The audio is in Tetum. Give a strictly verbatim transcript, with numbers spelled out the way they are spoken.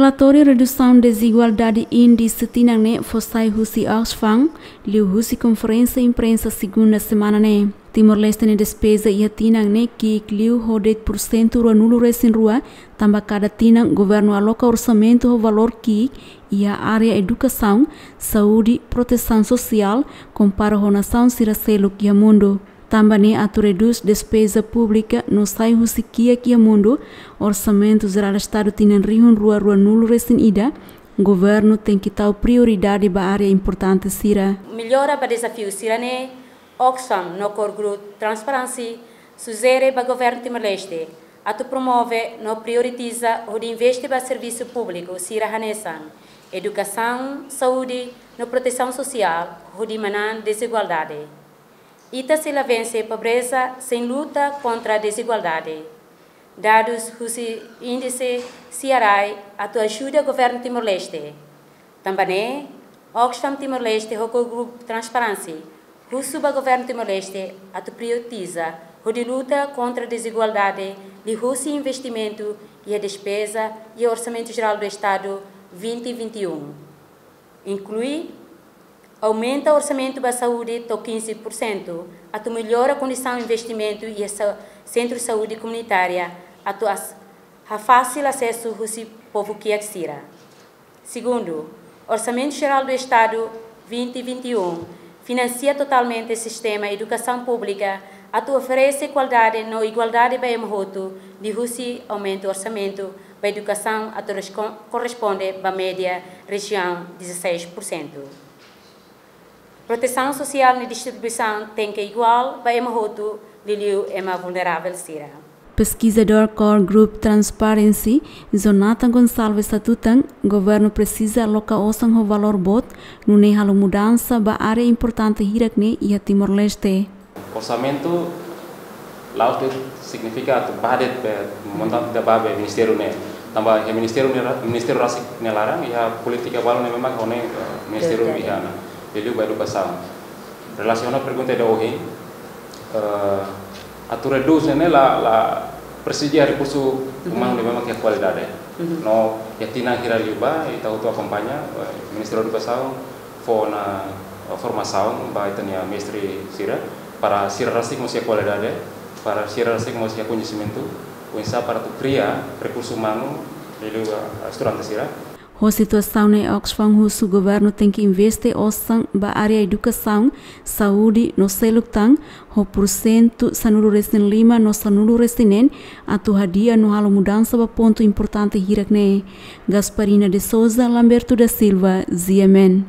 Relatóriu redusaun dezigualdade índise tinan ne'e fó sai husi Oxfam, liuhusi konferénsia imprensa segunda semana ne'e. Timor-Leste nia despeza iha tinan ne'e ki'ik liu ho de'it pursentu ruanulu resin rua, tanba kada tinan governu aloka orsamentu ho valór ki'ik iha área edukasaun, saúde, protesaun sosiál, kompara ho nasaun sira seluk iha mundu. Tanba ne'e atu redús despeza públika no sai husi kiak iha mundu, Orsamentu Jerál Estadu tinan rihun rua ruanulu resin ida, governu tenke tau prioridade ba área importante sira. Mellora ba dezafiu sira-ne'e, Oxfam no Core Group Transparency sujere ba governu Timor-Leste atu promove no prioritiza hodi investe ba servisu públiku sira hanesan edukasaun, saúde no protesaun sosiál, hodi manán dezigualdade. Ita sei la vense pobreza sein luta kontra dezigualdade. Dadus husi índise C R I atu ajuda governu Timor-Leste. Tanba ne'e, Oxfam Timor-Leste ho Core Group Transparency husu ba governu Timor-Leste atu prioritiza hodi luta kontra dezigualdade liuhusi investimentu iha despeza iha Orsamentu Jerál do Estadu vinte vinte e um. Inklui aumenta orsamentu ba saúde to'o quinze por cento, atu mellora kondisaun investimentu iha sa-, sentru saúde komunitária, atu as-, hafasil asesu husi povu kiak sira. Segundu, Orsamentu Jerál do Estadu vinte vinte e um finansia totalmente sistema edukasaun públika atu oferese kualidade no igualdade ba ema hotu, liuhusi aumenta orsamentu ba edukasaun atu resco-, korresponde ba média rejiaun dezasseis por cento. Protesaun sosiál nia distribuisaun tenke iguál ba ema hotu, liuliu ema vulneravel sira. Peskizadór Core Group Transparency, Jonathan Gonçalves hatutan, governu presiza aloka osan ho valór boot, nune'e halo mudansa ba área importante hirak-ne'e iha Timor-Leste. Orsamentu la'ós de'it signifika atu ba de'it, eh, montante ida ba ba ministériu ne'e. Tanba iha ministériu ne'e ra-, ministériu rasik nia laran, iha polítika balu ne'ebé mak ho ne'e, eh, ministériu iha ona. Liuliu ba edukasaun. Relasiona pergunta ida ohin, eh, atu redús ne'e la, la presiza rekursu umanu ne'ebé mak iha kualidade. No iha tinan hira liubá, ita hotu akompaña, eh, Ministériu Edukasaun fó ona, eh, formasaun ba ita-nia mestre sira, para sira rasik mós iha kualidade, para sira rasik mós iha koñesimentu, oinsá para atu kria rekursu umanu liuliu ba, eh, estudante sira. Ho situasaun ne'e Oxfam husu governu tenke investe osan ba área edukasaun, saúde no seluk tan, ho pursentu sanulu resin lima no sanulu resin neen, atu hadi'a no halo mudansa ba pontu importante hirak-ne'e. Gasparina de Souza, Lamberto da Silva, G M N.